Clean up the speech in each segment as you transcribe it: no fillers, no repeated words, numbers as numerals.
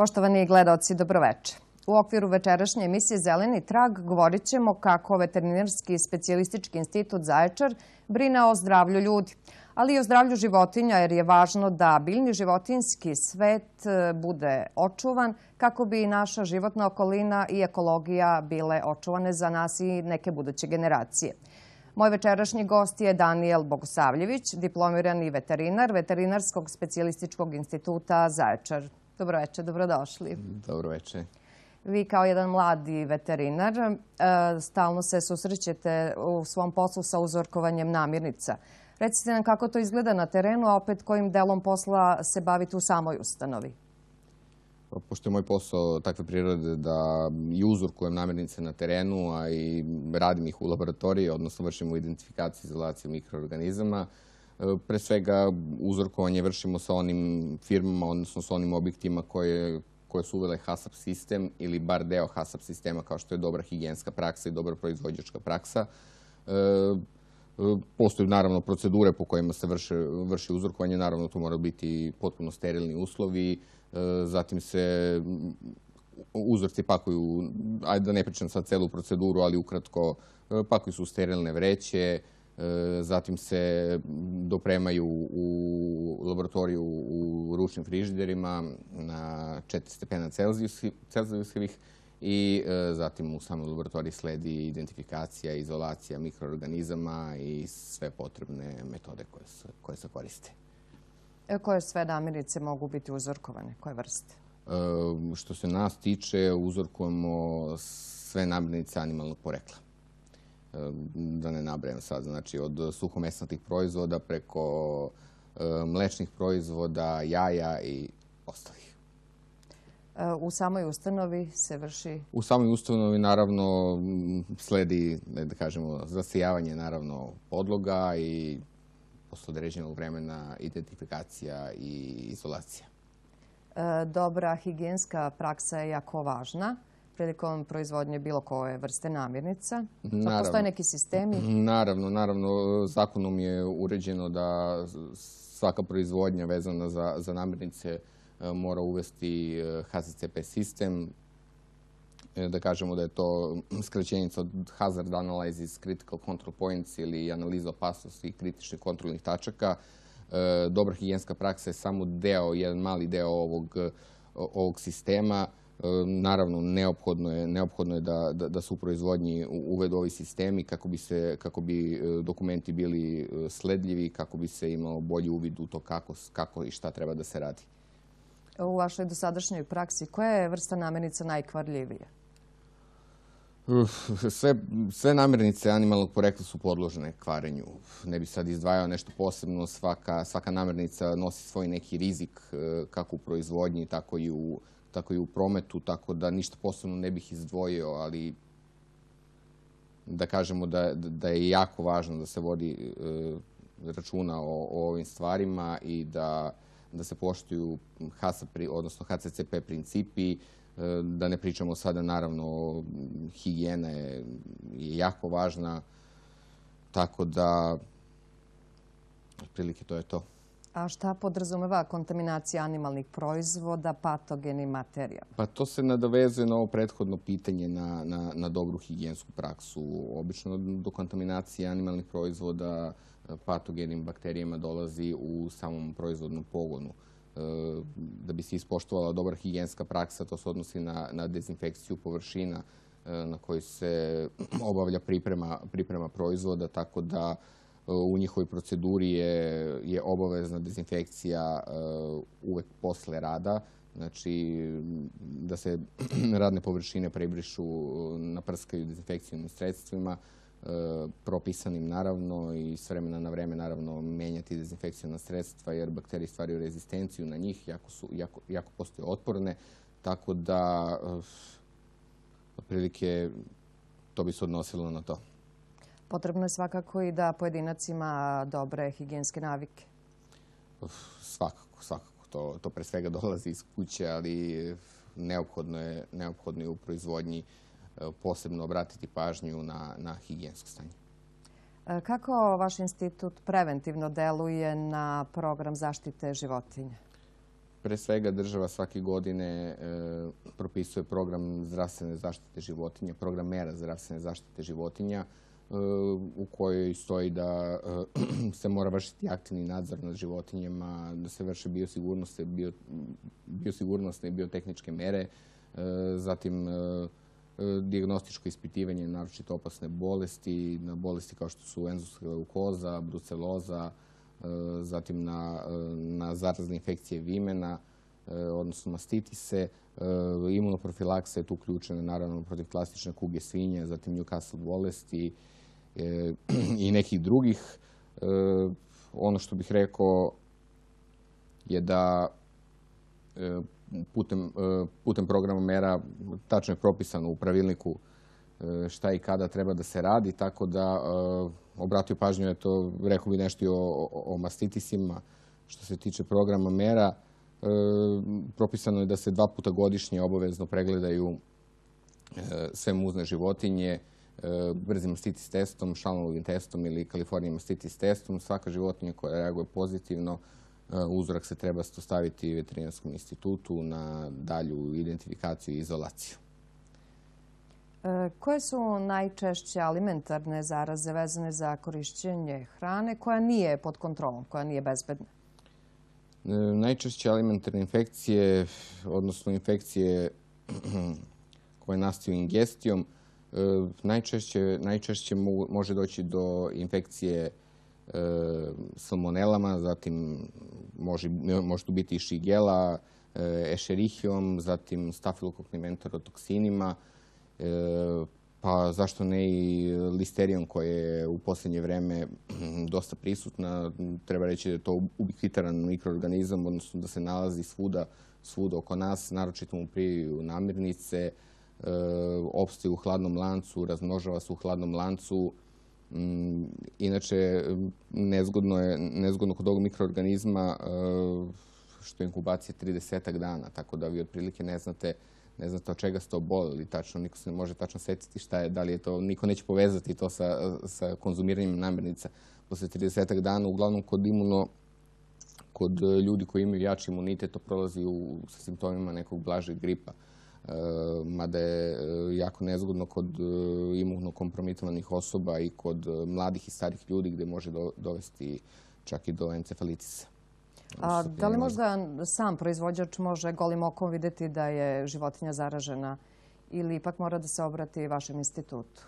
Poštovani gledaoci, dobroveče. U okviru večerašnje emisije Zeleni trag govorit ćemo kako Veterinarski specijalistički institut Zaječar brine o zdravlju ljudi, ali i o zdravlju životinja, jer je važno da biljni životinjski svet bude očuvan kako bi naša životna okolina i ekologija bile očuvane za nas i neke buduće generacije. Moj večerašnji gost je Danijel Bogosavljević, diplomirani veterinar Veterinarskog specijalističkog instituta Zaječar. Dobroveče, dobrodošli. Dobroveče. Vi kao jedan mladi veterinar stalno se susrećete u svom poslu sa uzorkovanjem namirnica. Recite nam kako to izgleda na terenu, a opet kojim delom posla se bavite u samoj ustanovi. Pošto je moj posao takve prirode da i uzorkujem namirnice na terenu, a i radim ih u laboratoriji, odnosno vršimo identifikaciju i izolaciju mikroorganizama, pre svega uzorkovanje vršimo sa onim firmama, odnosno sa onim objektima koje su uvele HACCP sistem ili bar deo HACCP sistema, kao što je dobra higijenska praksa i dobra proizvođačka praksa. Postoje naravno procedure po kojima se vrši uzorkovanje, naravno to moraju biti potpuno sterilni uslovi, zatim se uzorci pakuju, ajde da ne pričam sad celu proceduru, ali ukratko pakuju se u sterilne vreće, zatim se dopremaju u laboratoriju u ručnim frižiderima na 4 stepena Celzijusovih i zatim u samoj laboratoriji sledi identifikacija, izolacija mikroorganizama i sve potrebne metode koje se koriste. Koje sve namirnice mogu biti uzorkovane? Koje vrste? Što se nas tiče, uzorkujemo sve namirnice animalnog porekla. Da ne nabrajam sad, znači od suhomesnatih proizvoda preko mlečnih proizvoda, jaja i ostalih. U samoj ustanovi se vrši? U samoj ustanovi naravno sledi, da kažemo, zasijavanje naravno podloga i posle određenog vremena identifikacija i izolacija. Dobra higijenska praksa je jako važna prilikom proizvodnje bilo koje vrste namirnica. Postoje neki sistemi? Naravno. Zakonom je uređeno da svaka proizvodnja vezana za namirnice mora uvesti HACCP sistem. Da kažemo da je to skraćenica od Hazard Analysis Critical Control Points ili analiza opasnosti i kritičnih kontrolnih tačaka. Dobra higijenska praksa je samo jedan mali deo ovog sistema. Naravno, neophodno je da se u proizvodnji uvedu ovi sistemi kako bi dokumenti bili sledljivi, kako bi se imao bolji uvid u to kako i šta treba da se radi. U vašoj dosadašnjoj praksi koja je vrsta namirnica najkvarljivija? Sve namirnice animalnog porekla su podložene kvarenju. Ne bih sad izdvajao nešto posebno. Svaka namirnica nosi svoj neki rizik kako u proizvodnji, tako i u prometu, tako da ništa posebno ne bih izdvojio, ali da kažemo da je jako važno da se vodi računa o ovim stvarima i da se poštuju odnosno HACCP principi, da ne pričamo sada, naravno, higijena je jako važna, tako da otprilike to je to. A šta podrazumeva kontaminacija animalnih proizvoda patogenim materijama? Pa to se nadovezuje na ovo prethodno pitanje na dobru higijensku praksu. Obično do kontaminacije animalnih proizvoda patogenim bakterijama dolazi u samom proizvodnom pogonu. Da bi se ispoštovala dobra higijenska praksa, to se odnosi na dezinfekciju površina na kojoj se obavlja priprema proizvoda, tako da u njihovoj proceduri je obavezna dezinfekcija uvek posle rada. Znači, da se radne površine prebrišu, naprskaju dezinfekcijnim sredstvima, propisanim naravno i s vremena na vreme naravno menjati dezinfekcijna sredstva jer bakterije stvaraju rezistenciju na njih, jako postoje otporne, tako da otprilike to bi se odnosilo na to. Potrebno je svakako i da pojedinac ima dobre higijenske navike. Svakako. To pre svega dolazi iz kuće, ali neophodno je u proizvodnji posebno obratiti pažnju na higijensko stanje. Kako vaš institut preventivno deluje na program zaštite životinja? Pre svega država svake godine propisuje program zdravstvene zaštite životinja, program mera zdravstvene zaštite životinja u kojoj stoji da se mora vršiti aktivni nadzor nad životinjama, da se vrše biosigurnosne i biotehničke mere, zatim dijagnostičko ispitivanje naročito opasne bolesti, na bolesti kao što su enzofilska leukoza, bruceloza, zatim na zarazne infekcije vimena, odnosno mastitise. Imunoprofilaksa je tu uključena naravno protiv klasične kuge svinje, zatim Newcastle bolesti i nekih drugih. Ono što bih rekao je da putem programa mera tačno je propisano u pravilniku šta i kada treba da se radi, tako da obratio pažnju, rekao bi nešto i o mastitisima. Što se tiče programa mera, propisano je da se 2 puta godišnje obavezno pregledaju sve muzne životinje brzim mastitis testom, Šalmovim testom ili Kalifornija mastitis testom. Svaka životinja koja reaguje pozitivno, uzorak se treba staviti veterinarskom institutu na dalju identifikaciju i izolaciju. Koje su najčešće alimentarne zaraze vezane za korišćenje hrane koja nije pod kontrolom, koja nije bezbedna? Najčešće alimentarne infekcije, odnosno infekcije koje nastaju ingestijom, najčešće može doći do infekcije salmonelama, zatim može tu biti i šigela, escherichiom, zatim stafilokoknim enterotoksinima, pa zašto ne i listerijom koja je u posljednje vreme dosta prisutna. Treba reći da je to ubikvitaran mikroorganizam, odnosno da se nalazi svuda oko nas, naročito mu priju namirnice, opstaje u hladnom lancu, razmnožava se u hladnom lancu. Inače, nezgodno kod ovog mikroorganizma što je inkubacija 30 dana, tako da vi otprilike ne znate od čega ste oboleli tačno, niko se ne može tačno setiti šta je, da li je to, niko neće povezati to sa konzumiranjem namirnica. Posle 30 dana, uglavnom kod ljudi koji imaju jači imunitet, to prolazi sa simptomima nekog blažeg gripa. Mada je jako nezgodno kod imunokompromitovanih osoba i kod mladih i starih ljudi gde može dovesti čak i do encefalitisa. A da li možda sam proizvođač može golim okom vidjeti da je životinja zaražena ili ipak mora da se obrati vašem institutu?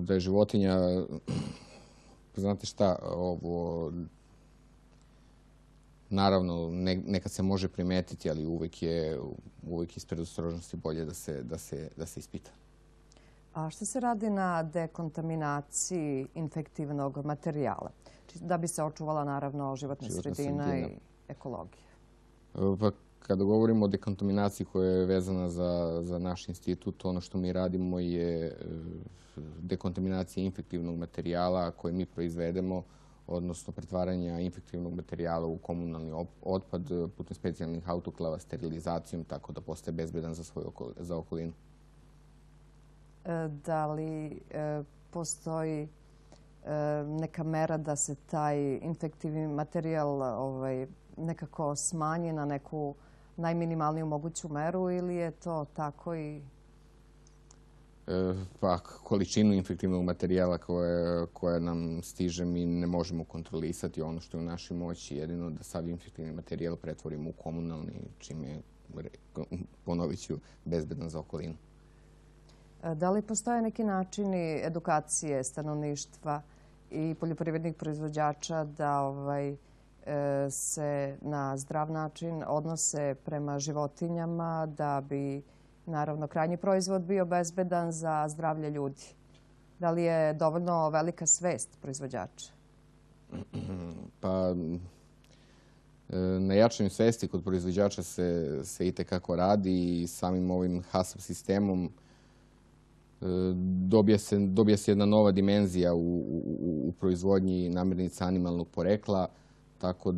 Da je životinja, znate šta, naravno, nekad se može primetiti, ali uvek je iz predostrožnosti bolje da se ispita. A šta se radi na dekontaminaciji infektivnog materijala? Da bi se očuvala, naravno, životna sredina i ekologija. Pa, kada govorimo o dekontaminaciji koja je vezana za naš institut, ono što mi radimo je dekontaminacija infektivnog materijala koje mi proizvedemo, odnosno pretvaranja infektivnog materijala u komunalni otpad putem specijalnih autoklava, sterilizacijom, tako da postaje bezbedan za okolinu. Da li postoji neka mera da se taj infektivni materijal nekako smanji na neku najminimalniju moguću meru ili je to tako i... Pa, količinu infektivnog materijala koja nam stiže mi ne možemo kontrolisati. Ono što je u našoj moći jedino da sav infektivni materijal pretvorimo u komunalni, čim je, ponovit ću, bezbedan za okolinu. Da li postoje neki načini edukacije stanovništva i poljoprivrednih proizvođača da se na zdrav način odnose prema životinjama da bi, naravno, krajnji proizvod bio bezbedan za zdravlje ljudi? Da li je dovoljno velika svest proizvođača? Pa, na jačanju svesti kod proizvođača se itekako radi i samim ovim HACCP sistemom dobija se jedna nova dimenzija u proizvodnji namirnica animalnog porekla, tako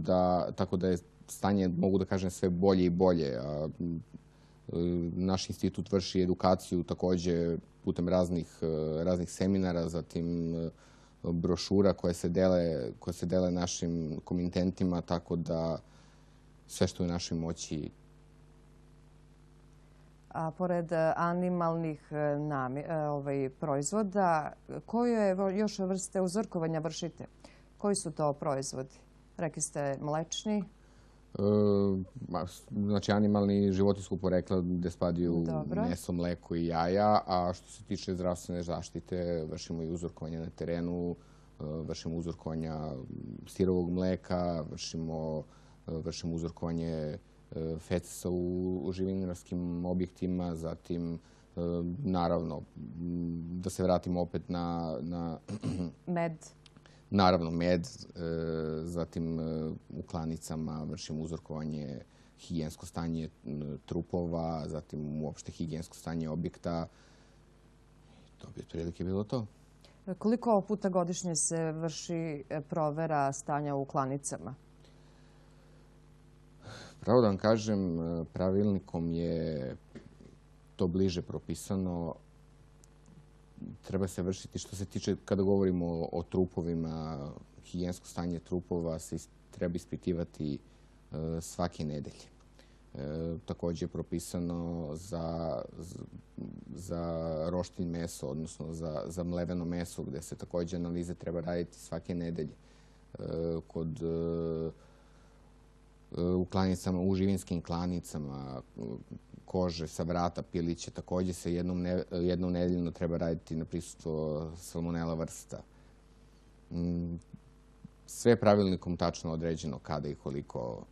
da je stanje, mogu da kažem, sve bolje i bolje. Naš institut vrši edukaciju takođe putem raznih seminara, zatim brošura koje se dele našim komitentima, tako da sve što je u našoj moći. A pored animalnih proizvoda, koje još vrste uzorkovanja vršite? Koji su to proizvodi? Rekli ste mlečni. Znači, animalni i životinjskog porekla gde spadaju meso, mleko i jaja, a što se tiče zdravstvene zaštite, vršimo i uzorkovanje na terenu, vršimo uzorkovanja sirovog mleka, vršimo uzorkovanje fecesa u živinarskim objektima, zatim, naravno, da se vratimo opet na med. Naravno, med, zatim u klanicama vršimo uzorkovanje, higijensko stanje trupova, zatim uopšte higijensko stanje objekta. To bi otprilike bilo to. Koliko puta godišnje se vrši provera stanja u klanicama? Pravo da vam kažem, pravilnikom je to bliže propisano. Treba se vršiti, što se tiče, kada govorimo o trupovima, higijensko stanje trupova se treba ispitivati svake nedelje. Također je propisano za roštilj meso, odnosno za mleveno meso, gde se također analize treba raditi svake nedelje. U klanicama, u živinskim klanicama, kože sa vrata pilića, također se jednom nedeljno treba raditi na prisustvo salmonela vrsta. Sve je pravilnikom tačno određeno kada i koliko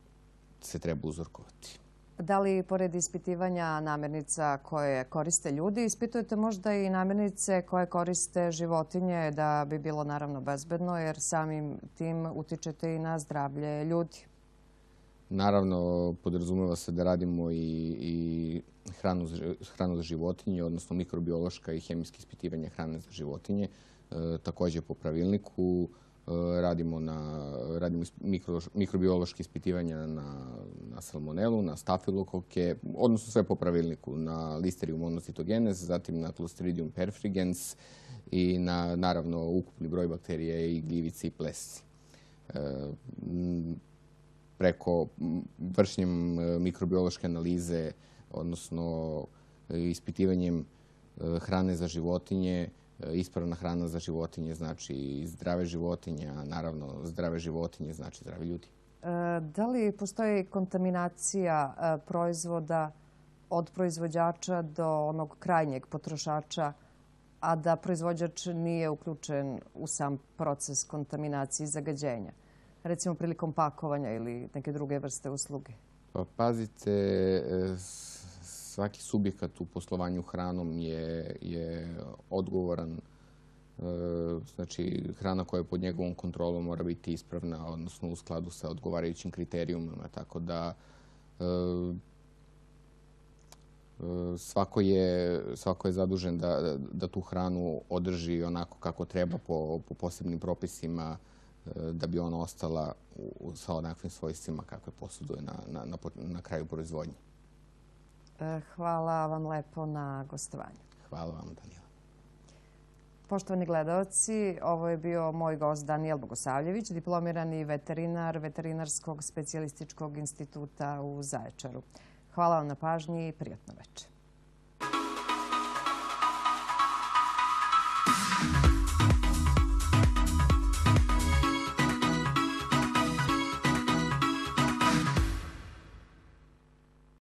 se treba uzorkovati. Da li, pored ispitivanja namirnica koje koriste ljudi, ispitujete možda i namirnice koje koriste životinje da bi bilo naravno bezbedno, jer samim tim utičete i na zdravlje ljudi? Naravno, podrazumeva se da radimo i hranu za životinje, odnosno mikrobiološka i hemijska ispitivanja hrane za životinje. Također po pravilniku radimo mikrobiološke ispitivanja na salmonelu, na stafilokoke, odnosno sve po pravilniku, na Listerijum monocytogenes, zatim na Clostridium perfrigens i na, naravno, ukupni broj bakterija i gljivice i plesci. Preko vršenjem mikrobiološke analize, odnosno ispitivanjem hrane za životinje, ispravna hrana za životinje znači zdrave životinje, a naravno zdrave životinje znači zdravi ljudi. Da li postoji kontaminacija proizvoda od proizvođača do onog krajnjeg potrošača, a da proizvođač nije uključen u sam proces kontaminacije i zagađenja? Recimo prilikom pakovanja ili neke druge vrste usluge? Pa pazite, svaki subjekat u poslovanju hranom je odgovoran. Znači, hrana koja je pod njegovom kontrolom mora biti ispravna, odnosno u skladu sa odgovarajućim kriterijumima. Tako da svako je zadužen da tu hranu održi onako kako treba po posebnim propisima, da bi ona ostala sa onakvim svojstvima kakve posjeduje na kraju proizvodnje. Hvala vam lepo na gostovanju. Hvala vam, Danijela. Poštovani gledalci, ovo je bio moj gost Danijel Bogosavljević, diplomirani veterinar Veterinarskog specijalističkog instituta u Zaječaru. Hvala vam na pažnji i prijatno večer.